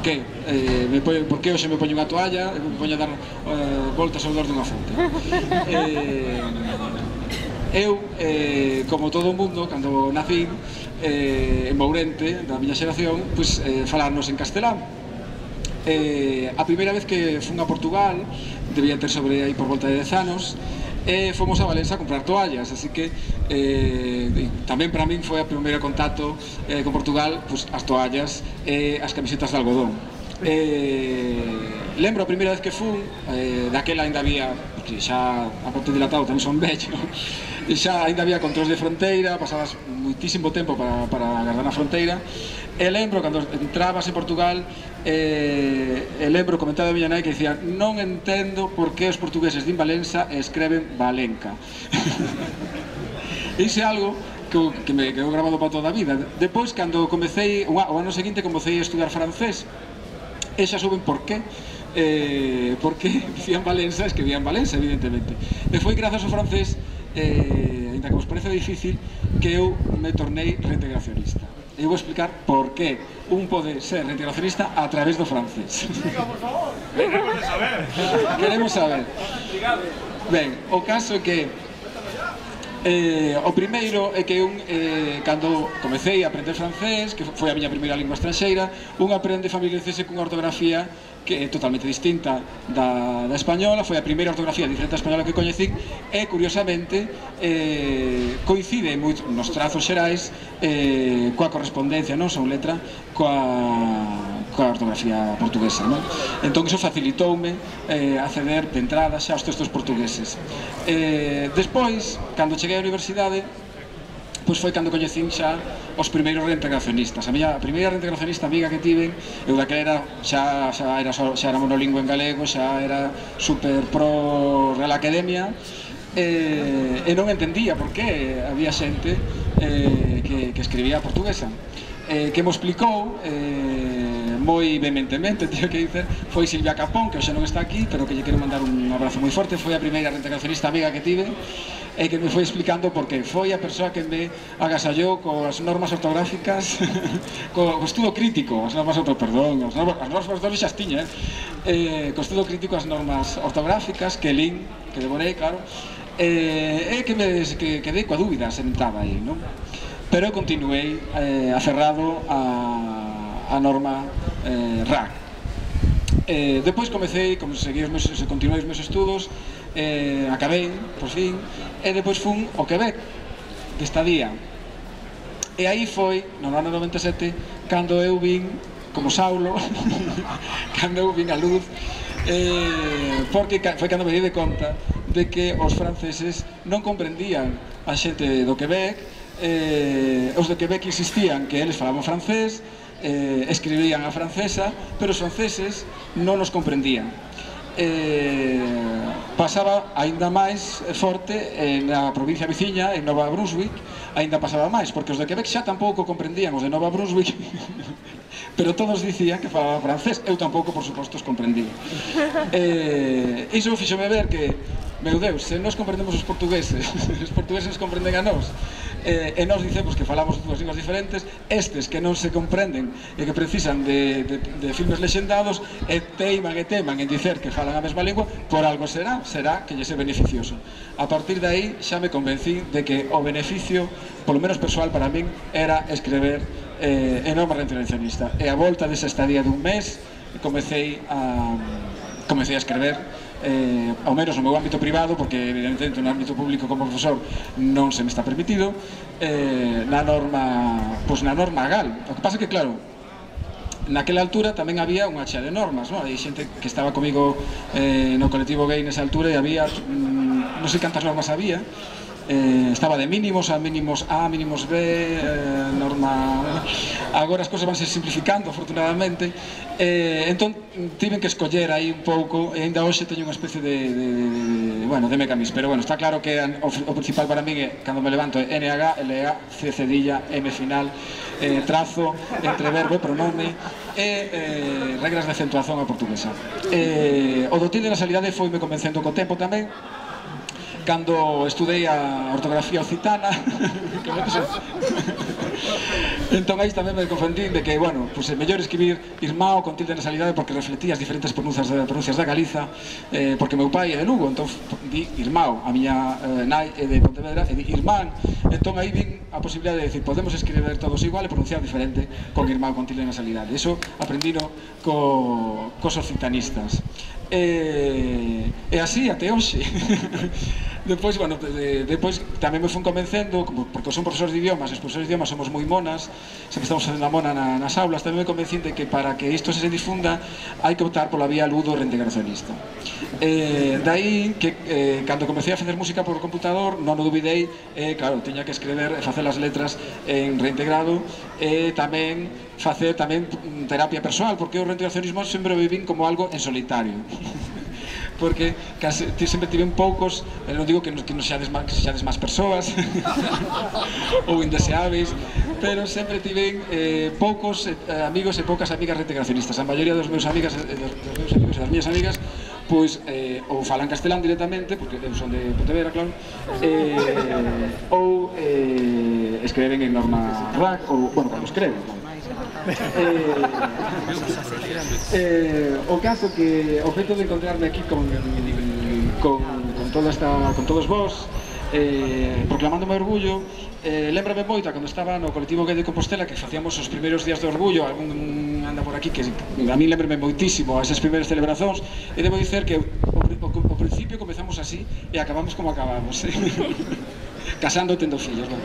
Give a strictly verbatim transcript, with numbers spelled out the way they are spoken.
por que? Eh, me poño, por que hoxe me poño unha toalla e me poño a dar eh, voltas ao redor dunha fonte? Eh, eu, eh, como todo o mundo, cando nací eh, en Mourente, da miña xeración, pois eh, falarnos en castelán. Eh, a primeira vez que fun a Portugal, debía ter sobre aí por volta de dez anos, e fomos a Valença a comprar toallas, así que eh, tamén para min foi o primeiro contacto eh, con Portugal, pues, as toallas e as camisetas de algodón. Eh, lembro a primeira vez que fun, eh, daquela ainda había, porque xa a parte dilatado tamén son vello, e xa ainda había controls de fronteira, pasabas muitísimo tempo para, para agardar na fronteira, e lembro cando entrabas en Portugal, eh, e lembro comentado a miña nai que dicía: non entendo por que os portugueses din Valença e escreven Valenca. Iso é algo que, que me quedou grabado para toda a vida. Depois, cando comecei, o ano seguinte comecei a estudiar francés, e xa souben por qué, eh, porque dicían Valença, escribían Valença, evidentemente. E foi grazas ao francés, eh, ainda que vos parece difícil, que eu me tornei reintegracionista. E vou explicar por que un pode ser reintegracionista a través do francés. Explica, por favor. Queremos saber. Queremos saber. Ben, o caso é que eh, o primeiro é que un, eh, cando comecei a aprender francés, que foi a miña primeira lingua estranxeira, un aprende a familiarizarse cunha ortografía que é totalmente distinta da, da española, foi a primeira ortografía diferente da española que coñecín, e, curiosamente, eh, coincide moito nos trazos xerais eh, coa correspondencia, non son letra, coa, coa ortografía portuguesa, non? Entón, iso facilitoume eh, acceder de entrada xa aos textos portugueses. Eh, despois, cando cheguei á universidade, pois foi cando coñecín xa os primeiros reintegracionistas. A miña primeira reintegracionista amiga que tiven, eu daquela era, xa, xa, era, xa era monolingüe en galego, xa era super pro Real Academia, e, e non entendía por que había xente eh, que, que escribía portuguesa. Eh, que mo explicou eh, moi vehementemente, tío, que dicer, foi Silvia Capón, que hoxe non está aquí, pero que lle quero mandar un abrazo moi forte. Foi a primeira reintegracionista amiga que tive, e que me foi explicando por que foi a persoa que me agasallou coas normas ortográficas, co, co estudo crítico, as normas ortográficas, perdón, as normas, as normas ortográficas xa tiña, eh, co estudo crítico as normas ortográficas, que lin, que devorei, claro, e eh, que me que, quedei coa dúbida, sentaba aí, non? Pero eu continuei eh, aferrado a, a norma eh, R A C. Eh, depois comecei, seguí os meus, continuei os meus estudos, eh, acabei, por fin, e depois fun ao Quebec, de estadía. E aí foi, no ano noventa e sete, cando eu vin, como Saulo, cando eu vin a luz, eh, porque foi cando me di de conta de que os franceses non comprendían a xente do Quebec. Eh, os de Quebec insistían que eles falaban francés, eh, escribían a francesa, pero os franceses non nos comprendían. Eh, pasaba aínda máis forte eh, na provincia veciña, en Nova Brunswick, aínda pasaba máis, porque os de Quebec xa tampouco comprendían os de Nova Brunswick, pero todos dicían que falaba francés. Eu tampouco, por suposto, os comprendía. Eh, iso fíxome ver que, meu Deus, se nós comprendemos os portugueses, os portugueses comprenden a nós, eh, e nós dicemos que falamos dúas linguas diferentes, estes que non se comprenden e que precisan de, de, de filmes lexendados, e teiman e teman en dicer que falan a mesma lingua, por algo será, será que lle é beneficioso. A partir de aí xa me convencí de que o beneficio, polo menos persoal para min, era escrever eh, en norma reintegracionista. E a volta desa estadía dun mes, comecei a, comecei a escrever, eh, ao menos no meu ámbito privado, porque evidentemente no ámbito público como profesor non se me está permitido, eh, na norma, pois na norma gal. O que pasa que, claro, naquela altura tamén había unha chea de normas, non? Hai xente que estaba comigo eh, no colectivo gay nesa altura e había, mm, non sei cantas normas había, eh, estaba de mínimos a mínimos A, mínimos B, eh, norma... Agora as cousas vanse simplificando, afortunadamente, eh, entón tiven que escoller aí un pouco, e ainda hoxe teño unha especie de, de, de, bueno, de mecanismo, pero bueno, está claro que o, o principal para mí é, cando me levanto, é N H, L A, C cedilla, M final, eh, trazo, entre verbo e pronome, e eh, regras de acentuación a portuguesa. Eh, o do tilde na salidade foi me convencendo co tempo tamén, cando estudei a ortografía occitana, Entón aí tamén me confundín de que, bueno, pues é mellor escribir Irmao con tilde de nasalidade porque reflectía as diferentes pronuncias da, pronuncias da Galiza, eh, porque meu pai é de Lugo, entón di Irmao, a miña eh, nai é de Pontevedra e di Irmán, entón aí vin a posibilidade de decir, podemos escribir todos igual e pronunciar diferente con Irmao con tilde de nasalidade. Iso aprendino co, cos occitanistas. E, e así até hoxe. Depois, bueno, de, depois tamén me fun convencendo, porque son profesores de idiomas, os profesores de idiomas somos moi monas, sempre estamos facendo a mona na, nas aulas, tamén me convencín de que para que isto se difunda hai que optar pola vía ludo reintegracionista. Eh, dai que eh, cando comecei a facer música por computador non o dubidei, eh, claro, tiña que escrever e facer as letras en reintegrado e eh, tamén facer tamén terapia persoal, porque o reintegracionismo sempre o vivín como algo en solitario. Porque case, sempre tiven poucos, non digo que non, que non xades máis, xades máis persoas ou indeseáveis, pero sempre tiven eh, poucos eh, amigos e poucas amigas reintegracionistas. A maioría dos meus amigas, eh, dos, dos meus amigos e das miñas amigas pois eh, ou falan castelán directamente, porque eu son de Pontevedra, claro, eh, ou eh, escreven en norma R A C, ou, bueno, cando escreven, Eh, eh, o caso que o feito de encontrarme aquí con, con, con, toda esta, con todos vos eh, proclamándome orgullo, eh, lembrame moito cando estaba no colectivo gay de Compostela que facíamos os primeiros días de orgullo, algún anda por aquí que a mí lembrame moitísimo a esas primeiras celebracións, e debo dicer que o, o, o principio comezamos así e acabamos como acabamos, eh? Casando e tendo fillos, non?